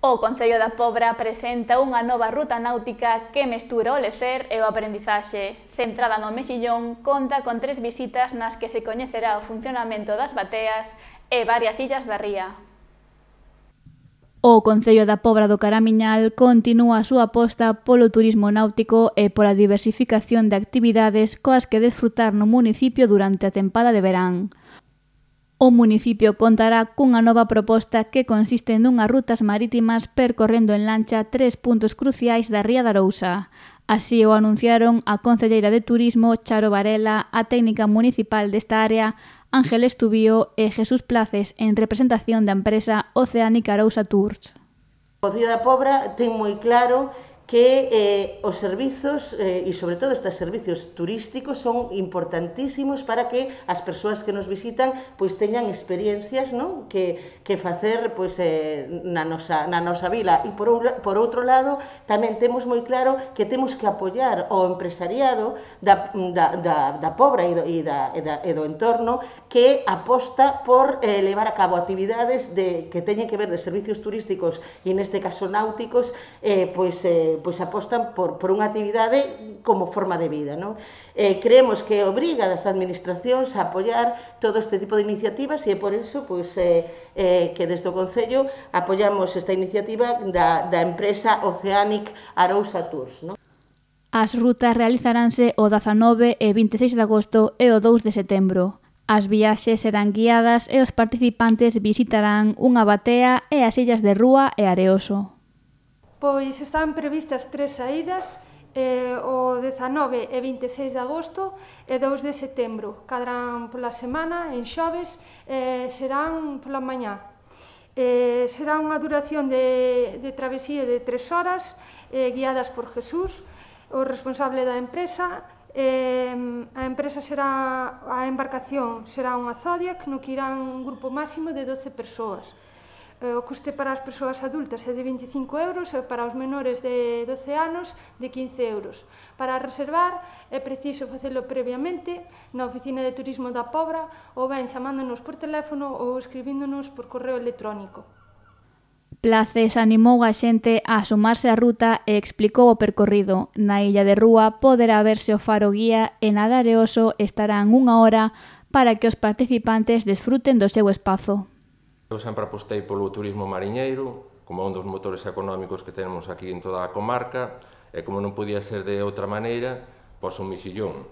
O Concello da Pobra presenta unha nova ruta náutica que mestura o lecer e o aprendizaxe. Centrada no Mexillón, conta con 3 visitas nas que se coñecerá o funcionamento das bateas e varias illas da ría. O Concello da Pobra do Caramiñal continúa a súa aposta polo turismo náutico e pola diversificación de actividades coas que desfrutar no municipio durante a tempada de verán. O municipio contará cunha nova proposta que consiste nunhas rutas marítimas percorrendo en lancha 3 puntos cruciais da ría da Arousa. Así o anunciaron a concelleira de Turismo Charo Varela, a técnica municipal desta área Ángel Estubío e Jesús Places en representación da empresa Oceanic Arousa Tours. O Concello da Pobra ten moi claro que os servizos, e sobre todo estes servicios turísticos, son importantísimos para que as persoas que nos visitan pois teñan experiencias, non? que facer pois, na nosa vila. E por outro lado, tamén temos moi claro que temos que apoiar o empresariado da Pobra e do entorno que aposta por levar a cabo actividades que teñen que ver de servicios turísticos e neste caso náuticos, pois apostan por unha actividade como forma de vida, non? Creemos que obriga das administracións a apoiar todo este tipo de iniciativas e é por iso pois, que desde o Concello apoiamos esta iniciativa da empresa Oceanic Arousa Tours, non? As rutas realizaranse o 19 e 26 de agosto e o 2 de setembro. As viaxes serán guiadas e os participantes visitarán unha batea e as illas de Rúa e Areoso. Pois están previstas 3 saídas, o 19 e 26 de agosto e 2 de setembro. Cadarán pola semana, en xoves, serán pola mañá. Será unha duración de travesía de 3 horas, guiadas por Jesús, o responsable da empresa. A embarcación será unha Zodiac, no que irán un grupo máximo de 12 persoas. O custe para as persoas adultas é de 25 euros e para os menores de 12 anos de 15 euros. Para reservar é preciso facelo previamente na oficina de turismo da Pobra ou ben chamándonos por teléfono ou escribíndonos por correo electrónico. Places animou a xente a sumarse á ruta e explicou o percorrido. Na illa de Rúa poderá verse o faro guía e na de Areoso estarán 1 hora para que os participantes desfruten do seu espazo. Eu sempre apostei polo turismo mariñeiro como un dos motores económicos que temos aquí en toda a comarca e como non podía ser de outra maneira, pois o Mexillón,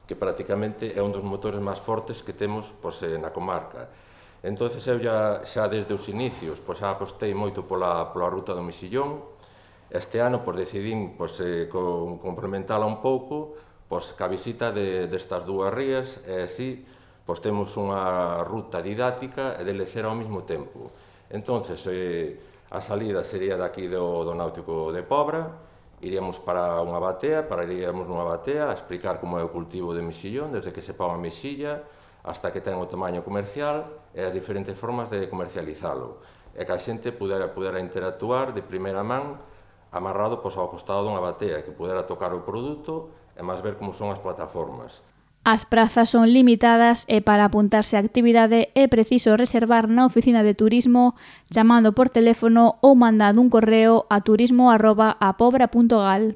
que prácticamente é un dos motores máis fortes que temos na comarca. Entón, eu xa desde os inicios xa apostei moito pola ruta do Mexillón. Este ano decidín complementala un pouco ca visita destas 2 rías e así temos unha ruta didáctica e de lecer ao mesmo tempo. Entón, a salida sería daqui do Náutico de Pobra, iríamos para unha batea, pararíamos nunha batea a explicar como é o cultivo de mexillón, desde que se pon a mexilla hasta que ten o tamaño comercial e as diferentes formas de comercializalo. E que a xente pudera interactuar de primeira man amarrado ao costado dunha batea, que pudera tocar o produto e máis ver como son as plataformas. As prazas son limitadas e para apuntarse á actividade é preciso reservar na oficina de turismo chamando por teléfono ou mandando un correo a turismo@apobra.gal.